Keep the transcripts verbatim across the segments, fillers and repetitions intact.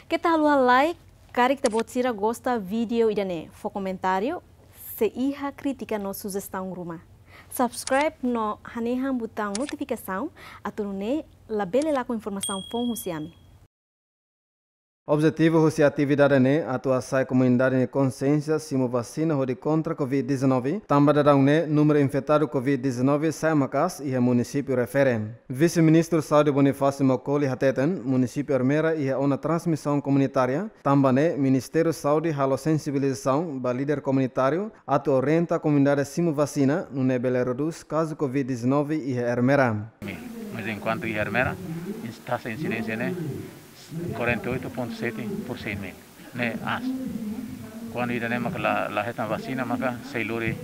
Keta haluha like, karik ita-boot sira gosta vídeo ida-ne'e, fó komentáriu, se iha krítika no sujestaun ruma. Subscribe no hanehan butaun notifikasaun, atu nune'e labele lakon informasaun foun husi ami. Objetivu husi atividade ne'e atu hasa'e komunidade nia konsiénsia simu vasina hodi kontra Covid dezanove, tanba daudaun ne'e númeru infetadu Covid dezanove sa'e maka'as iha munisípiu refere. Vise-Ministru Saúde Bonifácio Maukoli hateten, munisípiu Ermera iha ona transmisaun komunitária, tanba ne'e Ministériu Saúde halo sensibilizasaun ba líder komunitáriu atu orienta komunidade simu vasina, nune'e bele redús kazu Covid dezanove iha Ermera. Mas enkuantu iha Ermera, ins-, taxa insidénsia ne'e quarenta e oito ponto sete por cem mil, ne'e aas. Kuandu ida-ne'e maka la, la hetan vasina, maka sei lori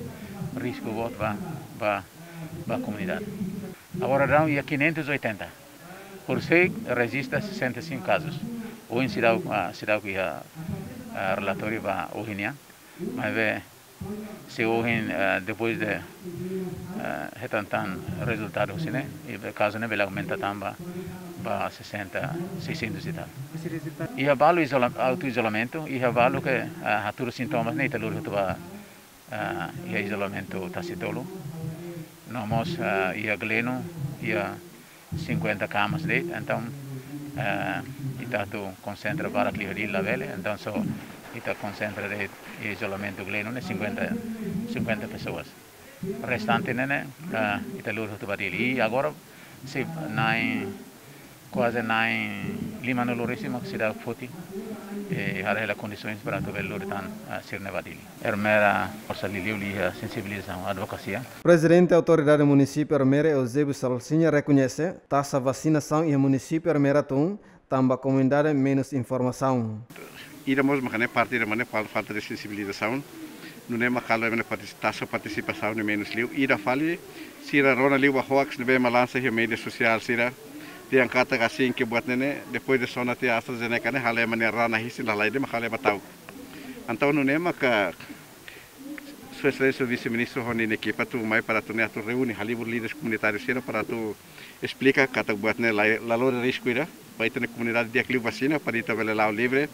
risku boot ba, ba, ba komunidade. Agora daudaun iha quinhentos e oitenta. Horisehik rejista sessenta e cinco casos. Ohin seidauk, ah, seidauk iha, ah, relatóriu ba ohin nian. Maibé, se ohin, ah, depois de, ah, hetan tan rezultadu husi ne'e, i be kazu ne'e bele aumenta tan ba, ba sessenta, seiscentos e tal. Iha balu izola-, auto-izolamentu, iha balu ke, ah, hatudu sintomas ne'e ita lori hotu ba, ah, iha izolamentu tasi tolu. No mós, ah, iha Gleno, iha cinquenta kamas de'it, entaun, ah, ita atu konsentra barak liu Dili labele, entaun só ita konsentra de'it iha izolamentu Gleno ne'e cinquenta, cinquenta pessoas. Restante ne'e, ne'e, ah, ita lori hotu ba Dili. I agora, se na'in, kuaze na'in limanulu resin mak seidauk foti, eh, haree hela kondisoens para atu bele lori tan, ah, sira-ne'e ba Dili. Ermera forsa liuliu iha sensibilizasaun, advokasia. Prezidente Autoridade Munisípiu Ermera, Eusébio Salsinha, rekoñese taxa vasinasaun iha munisípiu Ermera tun, tanba komunidade menus informasaun. Ida mós mak ne'e parte ida mak ne'e fal-, falta de sensibilizasaun. Nune'e mak halo ema nia partis-, taxa partisipasaun ne'e menus liu. Ida fali, sira rona liu ba hoax ne'ebé ema lansa iha média sosiál sira. Dehan katak asin ke buat ne'e ne'e, depois de sona tiha AstraZeneca ne'e, halo ema nia raan isin, lalais de'it mak halo ema ta'uk. Entaun nune'e maka Sua Exelénsia Vise-Ministru ho ninia ekipa atu mai para atu ne'e atu reúne halibur líderes komunitáriu sira para atu esplika katak buat ne'e la, la lori risku ida, ba ita-nia komunidade di'ak liu vasina, para ita bele la'o livre,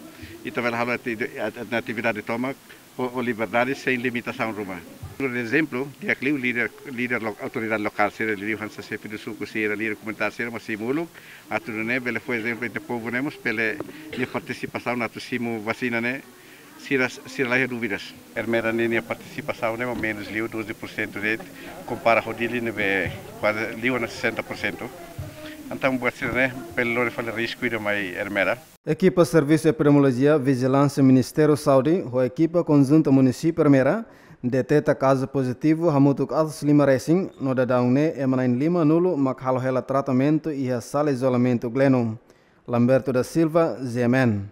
ita bele halo ati-, at-, atividade tomak, ho, ho liberdade sein limitasaun ruma. Por ezemplu, di'ak liu líder, líder lo-, autoridade lokál sira, liuliu hanesan xefe de suku sira, líder komunitáriu sira, mós simu uluk, atu nune'e bele fó ezemplu entre povu ne'e mós bele nia partisipasaun atu simu vasina ne'e, sira, sira laiha dúvidas. Ermera ninia partisipasaun ne'e mak menus liu doze por cento de'it, kompara ho Dili ne'ebé kuaze liu ona sessenta por cento. Entaun buat sira-ne'e bele lori fali risku ida mai Ermera. Ekipa Servisu Epidemiolojia Vijilánsia Ministériu Saúde ho ekipa konjunta Munisípiu Ermera deteta kazu pozitivu hamutuk atus lima resin, no daudaun ne'e ema na'in limanulu mak halo hela tratamentu iha sala izolamentu Gleno. Lamberto da Silva, G M N.